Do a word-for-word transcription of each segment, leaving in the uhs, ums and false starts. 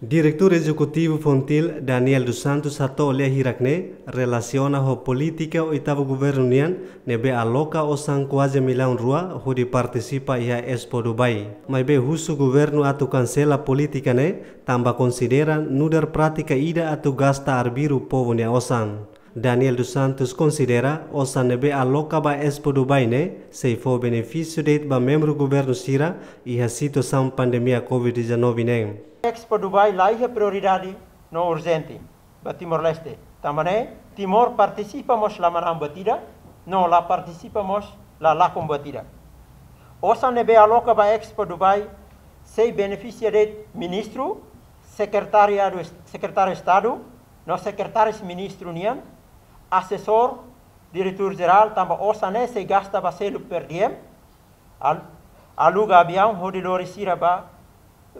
Diretór Ezekutivu Fontil, Daniel dos Santos, hato'o lia hirak ne'e relasiona ho polítika oitavu governu nian ne'ebé aloka osan kuaze millaun rua hodi partisipa iha Expo Dubai. Maibé husu governu atu kansela polítika ne'e, tanba konsidera nu'udar prátika ida atu gasta arbiru povu nia osan. Daniel dos Santos konsidera osan ne'ebé aloka ba Expo Dubai ne'e sei fó benefísiu de'it ba membru governu sira iha situasaun pandemia covid dezanove ne'e. Expo Dubai la iha prioridade no urjente ba Timor-Leste. Tanba ne'e, Timor partisipa mós la manán buat ida, no la partisipa mós la lakon buat ida. Osan ne'ebé aloka ba Expo Dubai sei benefisia de'it ministru, sekretariadu, sekretáriu Estadu, no sekretáriu ministru nian, asesór, diretór jerál, tanba osan ne'e sei gasta ba selu per diem, al-, aluga aviaun hodi lori sira ba,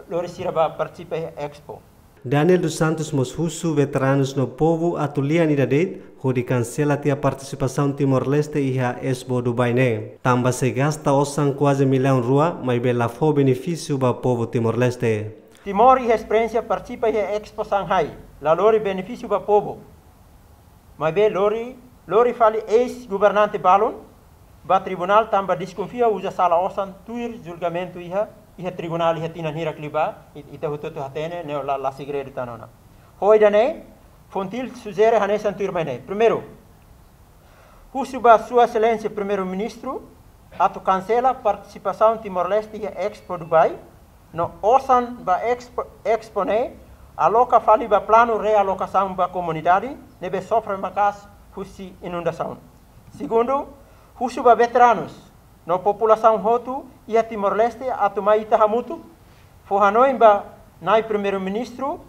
lori sira ba partisipa iha Expo. Daniel dos Santos mós husu veteranus no povu atu lian ida de'it hodi kansela tiha partisipasaun Timor-Leste iha Expo Dubai ne'e. Tanba sei gasta osan kuaze millaun rua, maibé la fó benefísiu ba povu Timor-Leste. Timor iha esperiénsia partisipa iha Expo Shanghai, la lori benefísiu ba povu. Maibé lori, lori fali eis-governante balun ba tribunál tanba deskonfia uza sala osan tuir julgamentu iha, iha tribunál iha tinan hirak liubá, i-, ita hotu-hotu hatene, ne'e la, la segredu tan ona. Ho ida-ne'e, Fontil sujere hanesan tuirmai ne'e. Primeiru, husu ba Sua Exelénsia Primeiru-Ministru atu kansela partisipasaun Timor-Leste iha Expo Dubai, no osan ba Expo, Expo ne'e aloka fali ba planu realokasaun ba komunidade ne'ebé sofre maka'as husi inundasaun. Segundu, husu ba veteranus no populasaun hotu iha Timor-Leste atu mai ita hamutuk fó hanoin ba Na'i Primeiru-Ministru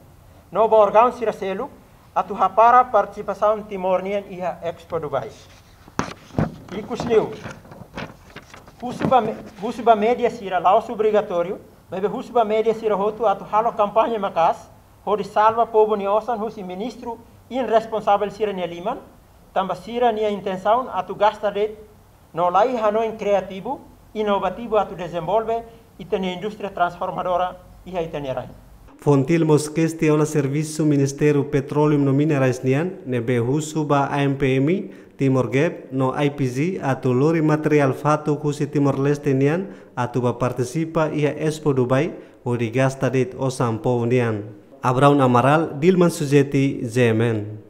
no ba órgaun sira seluk atu hapara partisipasaun Timor nian iha Expo Dubai. Ikusliu, husu ba me-, husu ba média sira la'ós obrigatóriu, maibé husu ba média sira hotu atu halo kampaña maka'as hodi salva povu nia osan husi ministru irresponsavel sira-nia liman, tanba sira-nia intensaun atu gasta de'it no la iha hanoin kriativu, inovativu atu dezenvolve ita-nia indústria transformadora iha ita-nia rain. Fontil mós kestiona servisu Ministériu Petróleu no Minerais nian, ne'ebé husu ba A M P M, Timor Gap no I P G atu lori materiál fatuk husi Timor-Leste nian atu ba partisipa iha Expo Dubai hodi gasta de'it osan povu nian. Abraão Amaral, Dilman Sujeti, G M N.